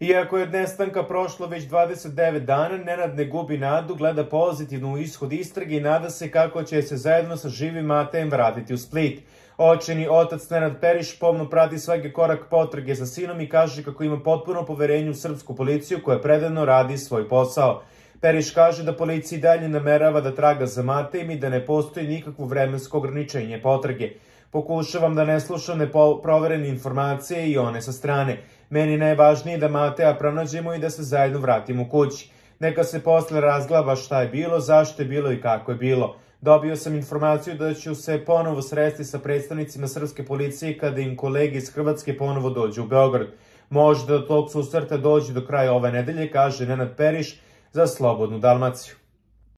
Iako je od nestanka prošlo već 29 dana, Nenad ne gubi nadu, gleda pozitivno u ishod istrage i nada se kako će se zajedno sa živim Matejem vratiti u Split. Očajni otac Nenad Periš pomno prati svaki korak potrage za sinom i kaže kako ima potpuno poverenje u srpsku policiju koja predano radi svoj posao. Periš kaže da policija i dalje namerava da traga za Matejem i da ne postoji nikakvo vremensko ograničenje potrage. Pokušavam da ne slušam neproverene informacije i one sa strane. Meni je najvažnije da Mateja pronađemo i da se zajedno vratimo kući. Neka se posle razglaba šta je bilo, zašto je bilo i kako je bilo. Dobio sam informaciju da ću se ponovo sresti sa predstavnicima srpske policije kada im kolege iz Hrvatske ponovo dođu u Beograd. Možda do tog susreta dođe do kraja ove nedelje, kaže Nenad Periš za Slobodnu Dalmaciju.